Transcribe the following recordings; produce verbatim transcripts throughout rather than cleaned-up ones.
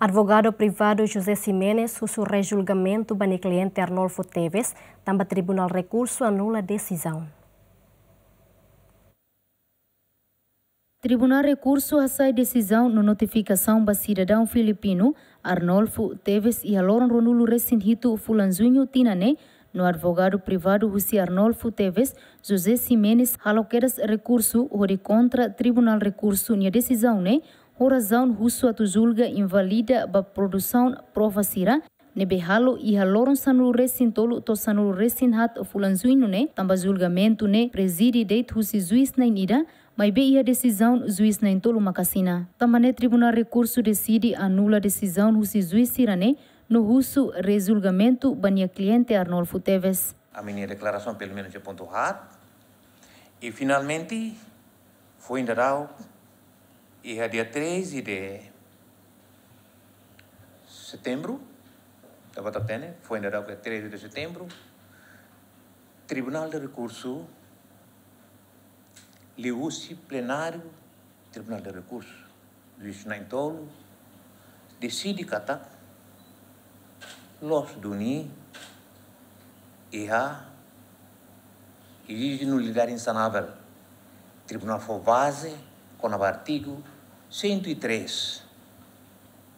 Advogadu privadu José Ximenes husu rejulgamentu ba nia kliente Arnolfo Teves, tanba Tribunál Rekursu anula desizaun. Tribunál Rekursu hasai desizaun no notifikasaun ba sidadaun filipinu Arnolfo Teves iha loron ruanulu-resin-hitu fulan Juñu tinan ne'e, no advogadu privadu husi Arnolfo Teves, José Ximenes, halo kedas rekursu hodi kontra Tribunál Rekursu nia desizaun ne'e, ho razaun husu atu julga invalida ba produsaun prova sira ne'ebé halo iha loron sanulu-resin-tolu to'o sanulu-resin-haat fulan Juñu ne'e, tanba julgamentu ne'e prezide de'it husi juís na'in-ida, maibé iha desizaun juís na'in-tolu maka asina. Tanba ne'e Tribunál Rekursu deside anula desizaun husi juís sira-ne'e, no husu rejulgamentu ba nia kliente Arnolfo Teves. Ami-nia deklarasaun pelumenus iha pontu haat. I finalmente, foin daudauk, iha dia treze de setembru, ita-boot hatene, foin daudauk iha treze de setembru, Tribunál de Rekursu, liuhusi plenáriu Tribunál de Rekursu, juís na'in-tolu, deside katak loos duni iha, iha nulidade insanável. Tribunál fó baze kona-ba artigu cento e três,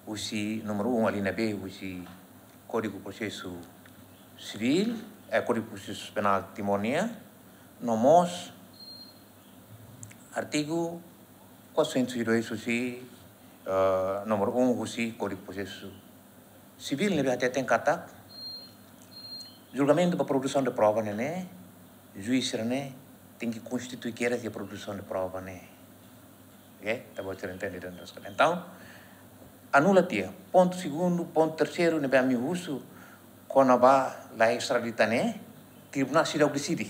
husi númeru um, alínea B, husi Kódigu Prosesu Sivíl, eh, Kódigu Prosesu Penál Timor nian, no mós artigu quatrocentos e dois husi, eh, númeru um husi Kódigu Prosesu Sivíl, ne'ebé hateten katak julgamentu ba produsaun de prova ne'e, ne'e, juís sira-ne'e tenke konstitui kedas iha produsaun de prova ne'e. Oke, ita-boot sira entende dan terus. Entaun, anula tiha. Pontu segundu, pontu terseiru, ne'ebé ami husu kona-ba la extradita ne'e, tribunál seidauk deside.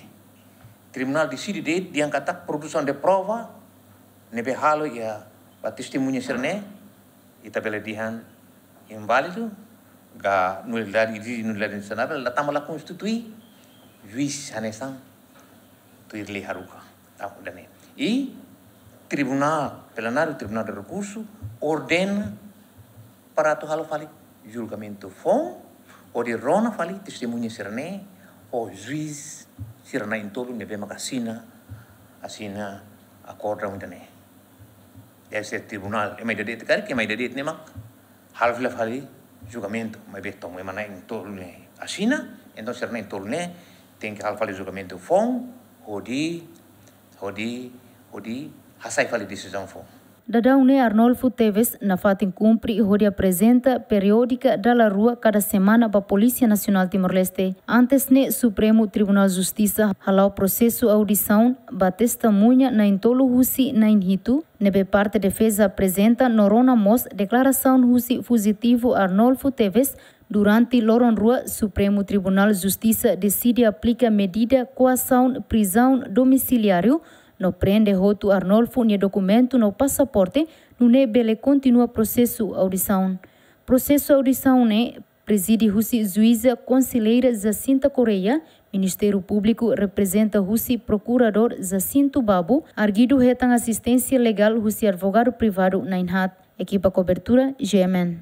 Tribunál deside de'it dehan katak produsaun de prova ne'ebé halo iha ba testemuña sira-ne'e, ita bele dehan inválidu, ka nulidade, iha nulidade insanável, la tanba la konstitui, juís hanesan tuir lei haruka. Entaun, ida-ne'e. I Tribunál, plenáriu Tribunál de Rekursu ordena para atu halo fali julgamentu foun, hodi rona fali testemuña sira-ne'e, ho juís sira na'in-tolu ne'ebé maka asina, asina akordu ida-ne'e. Deve ser tribunál, ema ida de'it karik, ema ida de'it ne'e mak halo fila fali julgamentu, maibé tanba ema na'in-tolu ne'e asina, entaun sira na'in-tolu ne'e tenke halo fali julgamentu foun, hodi, hodi, hodi hasai fali desizaun foun. Daudaun ne'e Arnolfo Teves nafatin kumpre hodi aprezenta periódika dala rua kada semana ba Polísia Nasionál Timor-Leste. Antes ne'e Supremu Tribunál Justisa hala'o prosesu audisaun ba testemuña na'in-tolu husi na'in-hitu, ne'ebé parte defeza aprezenta no rona mós deklarasaun husi fujitivu Arnolfo Teves durante loron rua Supremu Tribunál Justisa deside aplika medida koasaun prizaun domisiliáriu no prende hotu Arnolfo nia dokumentu no pasaporte, nune'e bele kontinua prosesu audisaun. Prosesu audisaun ne'e prezide husi juíza konselleira Jacinta Correia, Ministériu Públiku reprezenta husi Prokuradór Jacinto Babo, arguidu hetan asisténsia legál husi advogadu privadu na'in-haat. Ekipa kobertura, G M N.